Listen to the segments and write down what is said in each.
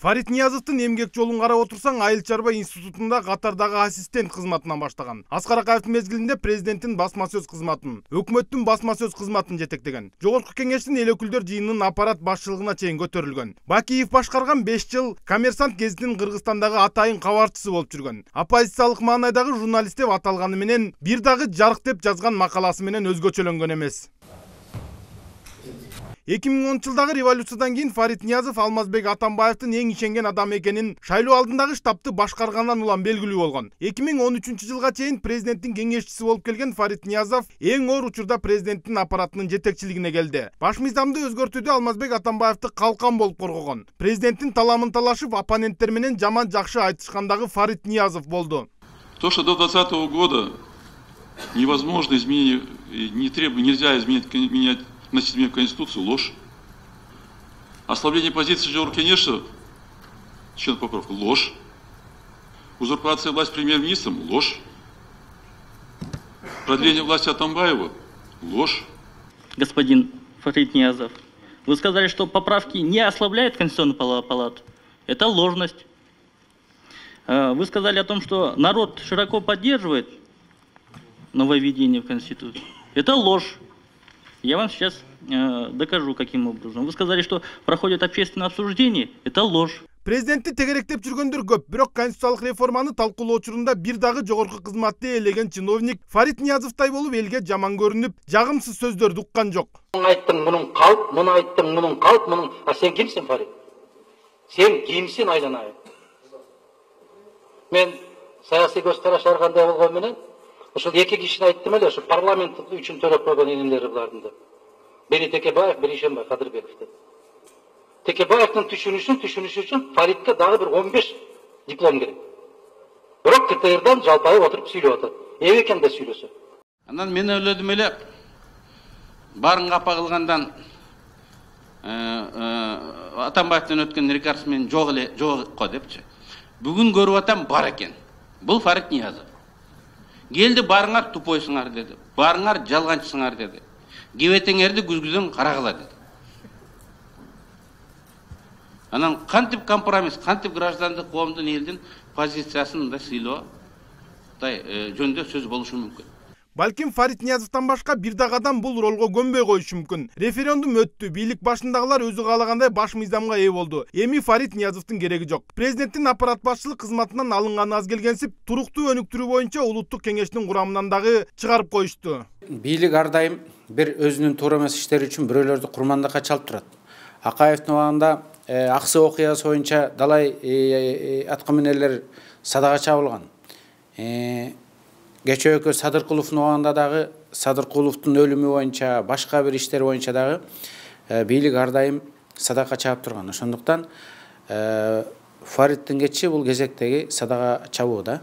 Фарит Ниязовдун эмгек жолун карап отурсаң, Айыл чарба институтунда катардагы ассистент кызматынан баштаган. Аскар Акаевдин мезгилинде президенттин басма сөз кызматын, өкмөттүн басма сөз кызматын жетектеген. Жогорку кеңештин эл өкүлдөр жыйынынын аппарат башчылыгына чейин көтөрүлгөн. Бакиев башкарган 5 жыл Коммерсант гезитинин Кыргызстандагы атайын кабарчысы болуп жүргөн. Оппозициялык маанайдагы журналист деп аталганы менен бир дагы жарык деп жазган макаласы менен өзгөчөлөнгөн эмес. 2010-жылдагы революциядан кийин Фарит Ниязов Алмазбек Атамбаевдин эң ишенген адамы экенин шайлоо алдындагы штабты башкаргандан улам белгилүү болгон. 2013-жылга чейин президенттин кеңешчиси болуп келген Фарит Ниязов эң оор учурда президенттин аппаратынын жетекчилигине келди. Баш мыйзамды өзгөртүүдө Алмазбек Атамбаевди калкан болуп коргогон. Президенттин таламын талашып, оппоненттер менен жаман жакшы айтышкандагы Фарит Ниязов болду. То, что до 2020 года невозможно изменить, нельзя менять вносить изменения в Конституцию, ложь. Ослабление позиции Жогоркенеша, членов поправка, ложь. Узурпация власти премьер-министром, ложь. Продление власти Атамбаева, ложь. Господин Фарит Ниязов, вы сказали, что поправки не ослабляют Конституционную палату. Это ложность. Вы сказали о том, что народ широко поддерживает нововведение в Конституцию. Это ложь. Я вам сейчас докажу, каким образом. Вы сказали, что проходит общественное обсуждение. Это ложь. Президентти тегеректеп жүргөндөр көп, бирок конституциялык реформаны талкуулоо учурунда бир дагы жогорку кызматты ээлеген чиновник Фарит Ниязовдай болуп элге жаман көрүнүп, жагымсыз сөздөрдү уккан жок. Айттың мунун калп, муну айттың мунун калп, мунун. А сен кимсиң, Фарит? Сен кимсиң, айланайын? Мен саясий көз караш аргандай болгон менен ошол эки кишини айттым эле, ошо парламент үчүн төлөп койгон энелери булардын деп. Бери Текебаев, бери Ишенбай Кадырбеков деп. Текебаевдин түшүнүшү үчүн Фаритке дагы бир 15 диплом керек. Бирок КТРдан жалпайып отуруп сүйлөп атат. Эме экен да сүйлөсө. Анан мен ойлодум эле, барын капа кылгандан Атамбаевден өткөн рекорд менен жок го депчи. Бүгүн көрүп атам, бар экен. Бул Фарит Ниязов. Келди, барыңар тупойсуңар деди. Барыңар жалганчысыңар деди. Кебетеңерди күзгүдөн карагыла деди. Анан кантип компромисс, кантип граждандык коомдун элдин позициясын да сыйлоо жөнүндө сөз болушу мүмкүн. Балким Фарит Ниязовдон башка бир дагы адам бул ролго көнбөй коюшу мүмкүн. Референдум өттү, бийлик башындагылар өзү каалагандай баш мыйзамга ээ болду. Эми Фарит Ниязовдун кереги жок. Президенттин аппарат башчылык кызматынан алынганы аз келгенсип, туруктуу өнүктүрүү боюнча улуттук кеңештин курамынан дагы чыгарып коюшту. Бийлик ар дайым бир өзүнүн туура эмес иштери үчүн бирөөлөрдү курмандыкка чалып турат. Акаевдин убагында Аксы окуясы боюнча далай аткаминерлер садага чабылган. Кечөөкө Садыркуловдун убагында дагы Садыркуловдун өлүмү боюнча, башка бир иштер боюнча дагы бийлик ар дайым садакка чабып турган. Ошондуктан Фариттин кетиши бул кезектеги садага чабуу да.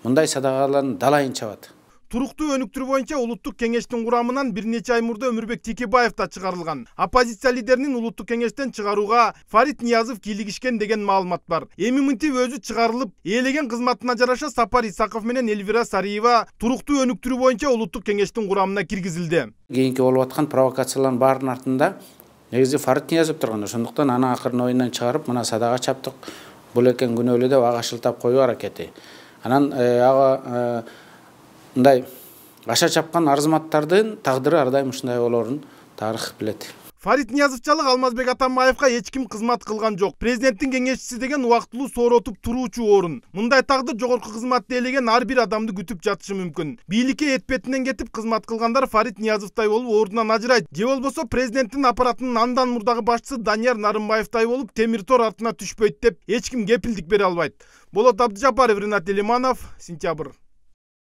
Мындай садакалардын далайын чабат. Туруктуу өнүктүрүү боюнча улуттук кеңештин курамынан бир нече ай мурда Өмүрбек Текебаев да чыгарылган. Оппозиция лидеринин улуттук кеңештен чыгарууга Фарит Ниязов кийлигишкен деген маалымат бар. Эми мынтип өзү чыгарылып, ээлеген кызматына жараша Сапар Исаков менен Элвира Сариева туруктуу өнүктүрүү боюнча улуттук кеңештин курамына киргизилди. Кийинки болуп аткан провокациялардын баарынын артында негизи Фарит Ниязов турган. Ошондуктан аны акырын оюндан чыгарып, мына садага чаптык, бул экен күнөөлүү деп ага шылтап коюу аракети. Анан ага мындай аша чапкан арзыматтардын тагдыры ар дайым ушундай болоорун тарых билет. Фарит Ниязовчалык Алмазбек Атамбаевга эч ким кызмат кылган жок. Президенттин кеңешчиси деген убактылуу сооротуп туруучу орун. Мындай тагдыр жогорку кызматты ээлеген ар бир адамды күтүп жатышы мүмкүн. Бийликке этпетинен кетип кызмат кылгандар Фарит Ниязовдай болуп ордунан ажырайт. Же болбосо президенттин аппаратынын андан мурдагы башчысы Данияр Нарымбаевдай болуп темир тор артына түшпөйт деп эч ким кепилдик бере албайт. Болот Абдыжапаров, Ринат Элиманов, Сентябрь.